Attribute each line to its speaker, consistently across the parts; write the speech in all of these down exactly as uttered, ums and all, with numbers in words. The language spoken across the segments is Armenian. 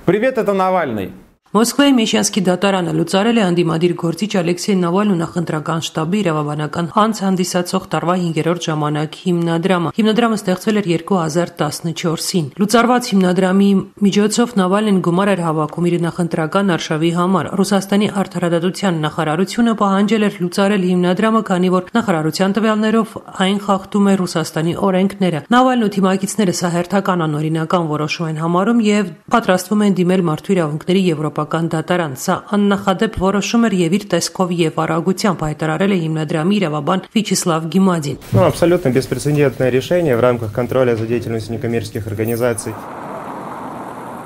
Speaker 1: Привет, это Навальный.
Speaker 2: Մոսկվայի Մեշյանսկի դատարանը լուծարել է անդիմադիր գործիչ Ալեքսեյ Նավալնու նախընտրական շտաբի իրավաբանական անց հանդիսացող տարվա հինգերորդ ժամանակ հիմնադրամը։ Հիմնադրամը ստեղծվել էր երկու հազար տասնչորսին։ Լուծարված հիմնադրամի միջոցով Նավալնին գումար էր հավաքում իր նախընտրական արշավի համար։ Ռուսաստանի արդարադատության նախարարությունը պահանջել էր լուծարել հիմնադրամը, քանի որ նախարարության տվյալներով այն խախտում է Ռուսաստանի օրենքները։ Նավալնու թիմակիցները սա հերթական անօրինական որոշում են համարում եւ պատրաստվում են դիմել մարդու իրավունքների Եվրոպա դատարան։ Սա աննախադեպ որոշում էր եւ իր տեսքով եւ արագությամբ հայտարարել է հիմնադրամի իրավաբան Վячеслав Гемадин.
Speaker 3: Ну, абсолютно беспрецедентное решение в рамках контроля за деятельностью некоммерческих организаций.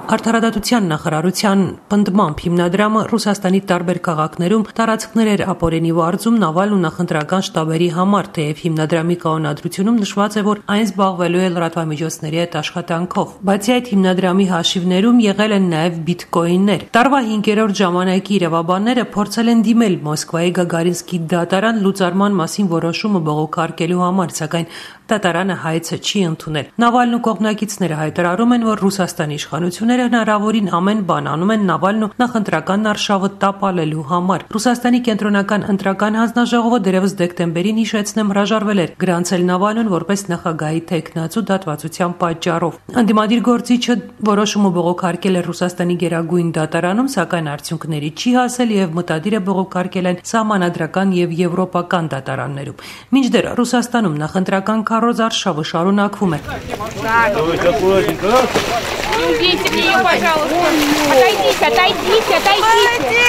Speaker 2: Արդարադատության նախարարության պնդմամբ հիմնադրամը Ռուսաստանի տարբեր քաղաքներում տարածքներ էր ապօրինի վարձում Նավալնու նախընտրական շտաբերի համար, թեև հիմնադրամի կանոնադրությունում նշված է, որ այն զբաղվելու է լրատվամիջոցների հետ աշխատանքով։ Բացի այդ, հիմնադրամի հաշիվներում եղել են նաև բիտկոիններ։ Տարվա հինգերորդ ժամանակի իրավաբանները փորձել են դիմել Մոսկվայի Գագարինսկի դատարան լուծարման մասին որոշումը բողոքարկելու համար, սակայն դատարանը հայցը չի ընդունել։ Նավալնու կողմնակիցները հայտարարում են, որ Ռուսաստանի իշխանությունները հնարավորին ամեն բան անում են Նավալնու նախընտրական արշավը տապալելու համար։ Ռուսաստանի կենտրոնական ընտրական հանձնաժողովը դերևս դեկտեմբերին հիշեցնեմ հրաժարվել էր գրանցել Նավալնուն որպես նախագահի թեկնածու դատվածության պատճառով։ Անդիմադիր գործիչը որոշումը բողոքարկել է Ռուսաստանի գերագույն դատարանում, սակայն արդյունքների չի հասել եւ մտադիր է բողոքարկել այն սահմանադրական եւ եվրոպական դատարաններում։ Մինչդեռ Ռուսաստանում նախընտրական քարոզ արշավը շարունակվում է։
Speaker 4: Отойдите, отойдите, отойдите.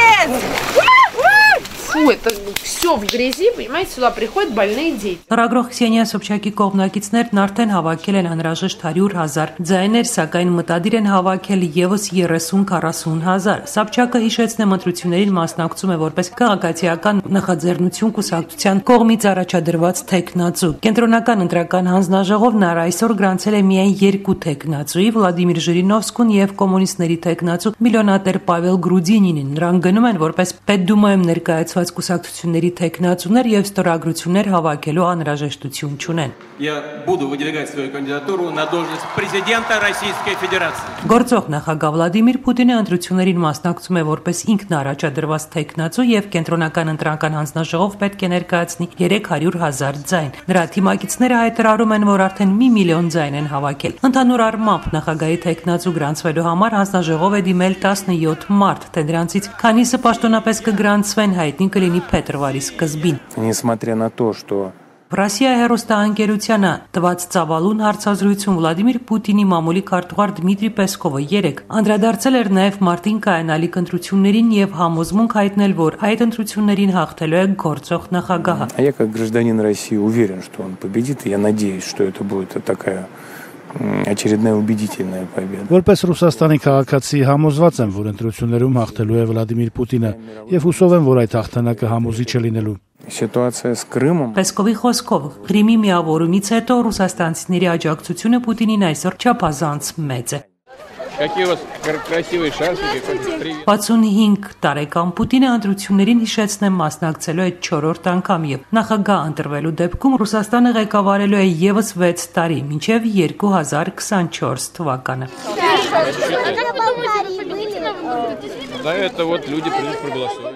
Speaker 4: Фу, это все в грязи, понимаете, сюда приходят больные дети.
Speaker 2: Լրագրող Քսենիա Սոբչակի կողմնակիցներն արդեն հավաքել են անհրաժեշտ հարյուր հազար ձայներ, սակայն մտադիր են հավաքել եւս երեսուն-քառասուն հազար։ Սոբչակը հիշեցնեմ ընտրություններին մասնակցում է որպես քաղաքացիական նախաձեռնություն կուսակցության կողմից առաջադրված թեկնածու։ Կենտրոնական ընտրական հանձնաժողովն այսօր գրանցել է միայն երկու թեկնածուի՝ Վլադիմիր Ժիրինովսկուն եւ կոմունիստների թեկնածու միլիոնատեր Պավել Գրուդինինին։ Նրանք գնում են որպես Պետդումայում ներկայացված կուսակցությունների թեկնածուներ եւ ստորագրություններ հավաքելու անհրաժեշտություն չունեն։
Speaker 5: Я буду выдвигать свою кандидатуру на должность президента Российской Федерации.
Speaker 2: Գործող նախագահ Վլադիմիր Պուտինը ընտրություններին մասնակցում է որպես ինքն առաջադրված թեկնածու եւ կենտրոնական ընտրական հանձնաժողով պետք է ներկայացնի երեք հարյուր հազար ձայն։ Նրա թիմակիցները հայտարարում են, որ արդեն մի միլիոն ձայն են հավաքել։ Ընդհանուր առմամբ նախագահի թեկնածու գրանցվելու համար հանձնաժողով է դիմել տասնյոթ մարդ, թե դրանցից քանիսը պաշտոնապես կգրանցվեն հայտնի կլինի փետրվարի սկզբին։
Speaker 3: Несмотря на то, что
Speaker 2: Ռոսիայի հեռուստաընկերությանը տված ծավալուն հարցազրույցում Վլադիմիր Պուտինի մամուլի քարտուղար Դմիտրի Պեսկովը երեկ անդրադարձել էր նաև մարտին կայանալիք ընտրություններին եւ համոզմունք հայտնել, որ այդ ընտրություններին հաղթելու է գործող նախագահը։
Speaker 3: Я как гражданин России уверен, что он победит, и я надеюсь, что это будет такая очередная убедительная победа.
Speaker 6: Որպես Ռուսաստանի քաղաքացի համոզված եմ, որ ընտրություններում հաղթելու է Վլադիմիր Պուտինը եւ հուսով եմ, որ այդ հաղթանակը համոզիչ է լինելու։
Speaker 3: Ситуация с Крымом.
Speaker 2: Պեսկովի խոսքով Ղրիմի միավորումից հետո ռուսաստանցիների աջակցությունը Պուտինին այսօր չափազանց մեծ է։
Speaker 5: Какие у вас красивые шарфики, привет.
Speaker 2: վաթսունհինգ տարեկան Պուտինը ընտրություններին հիշեցնեմ մասնակցելու է չորրորդ անգամ եւ նախագահ ընտրվելու դեպքում Ռուսաստանը ղեկավարելու է եւս վեց տարի, մինչեւ երկու հազար քսանչորս թվականը։
Speaker 5: За это вот люди придут проголосовать.